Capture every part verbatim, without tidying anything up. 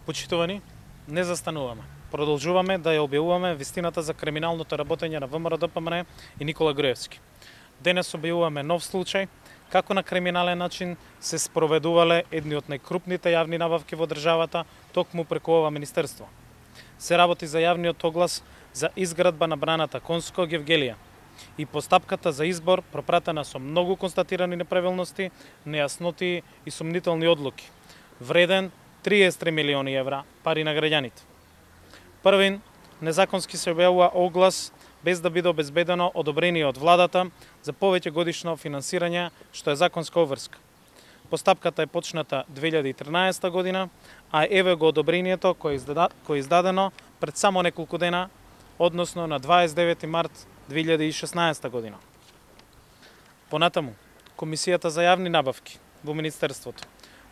Почитувани, не застануваме. Продолжуваме да ја објавуваме вистината за криминалното работење на ВМРО-ДПМН и Никола Груевски. Денес објавуваме нов случај како на криминален начин се спроведувале едни од најкрупните јавни набавки во државата токму преку ова министерство. Се работи за јавниот оглас за изградба на браната Конско Гевгелија и постапката за избор пропратена со многу констатирани неправилности, нејасноти и сумнителни одлуки, вреден триесет и три милиони евра пари на граѓаните. Првин, незаконски се објавува оглас без да биде обезбедено одобрение од владата за повеќе годишно финансирање, што е законска обврска. Постапката е почната две илјади и тринаесета година, а еве го одобрението кое е издадено пред само неколку дена, односно на дваесет и девети март две илјади и шеснаесета година. Понатаму, Комисијата за јавни набавки во Министерството,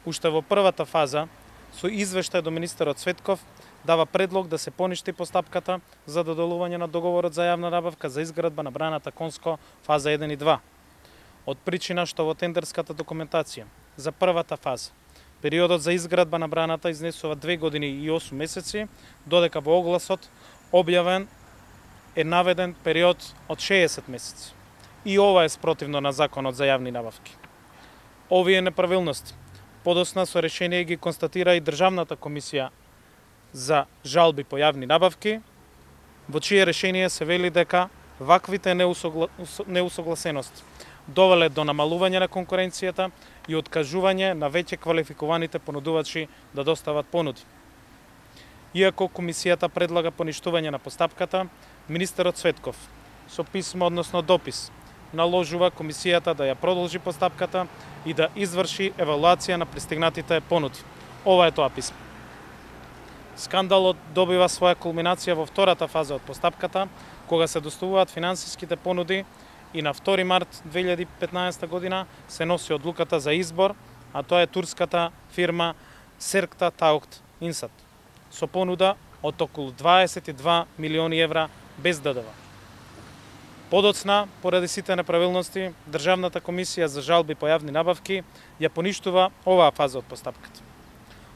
уште во првата фаза, со извештај до министерот Цветков, дава предлог да се поништи постапката за доделување на договорот за јавна набавка за изградба на браната Конско фаза еден и два. Од причина што во тендерската документација за првата фаза периодот за изградба на браната изнесува две години и осум месеци, додека во огласот објавен е наведен период од шеесет месеци. И ова е спротивно на Законот за јавни набавки. Овие неправилности подосна со решение ги констатира и Државната комисија за жалби по јавни набавки, во чие решение се вели дека ваквите неусогла... неусогласености довеле до намалување на конкуренцијата и откажување на веќе квалификуваните понудувачи да достават понуди. Иако комисијата предлага поништување на постапката, министерот Цветков со писмо, односно допис, наложува комисијата да ја продолжи постапката и да изврши евалуација на пристигнатите понуди. Ова е тоа писмо. Скандалот добива своја кулминација во втората фаза од постапката, кога се доставуваат финансиските понуди и на втори март две илјади и петнаесета година се носи одлуката за избор, а тоа е турската фирма Серкта Таукт Инсат, со понуда од околу дваесет и два милиони евра без ДДВ. Подоцна, поради сите неправилности, Државната комисија за жалби по јавни набавки ја поништува оваа фаза од постапката.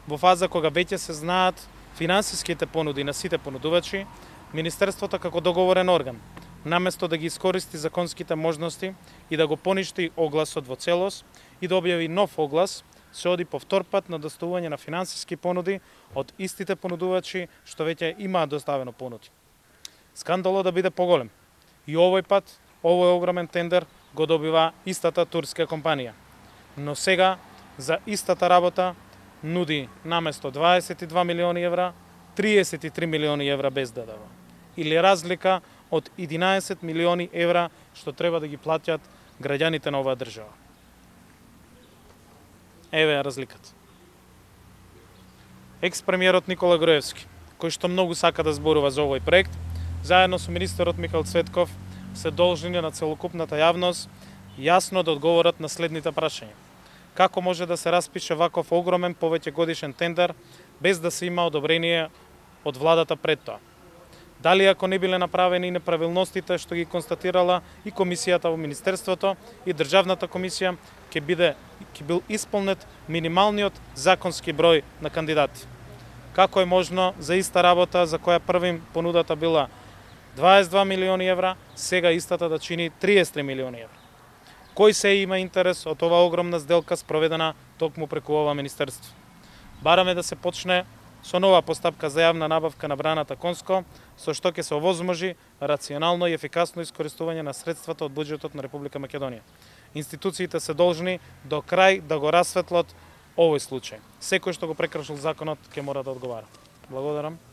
Во фаза кога веќе се знаат финансиските понуди на сите понудувачи, Министерството како договорен орган, наместо да ги искористи законските можности и да го поништи огласот во целост и да објави нов оглас, се оди по втор пат на доставување на финансиски понуди од истите понудувачи што веќе имаат доставено понуди. Скандалот да биде поголем. И овој пат, овој огромен тендер го добива истата турска компанија. Но сега, за истата работа, нуди наместо дваесет и два милиони евра, триесет и три милиони евра без ДДВ. Или разлика од единаесет милиони евра што треба да ги платят граѓаните на оваа држава. Еве е разликата. Екс-премиерот Никола Груевски, кој што многу сака да зборува за овој проект, заедно со министерот Михаил Цветков, се должни на целокупната јавност јасно да одговорат на следните прашања. Како може да се распише ваков огромен повеќе годишен тендер без да се има одобрение од владата пред тоа? Дали ако не биле направени неправилностите што ги констатирала и комисијата во Министерството и Државната комисија, ќе биде ќе бил исполнет минималниот законски број на кандидати? Како е можно за иста работа за која првим понудата била дваесет и два милиони евра, сега истата да чини триесет и три милиони евра? Кој се има интерес од оваа огромна сделка спроведена токму преку ова министерство? Бараме да се почне со нова постапка за јавна набавка на браната Конско, со што ќе се овозможи рационално и ефикасно искористување на средствата од буџетот на Република Македонија. Институциите се должни до крај да го расветлат овој случај. Секој што го прекршил законот ќе мора да одговара. Благодарам.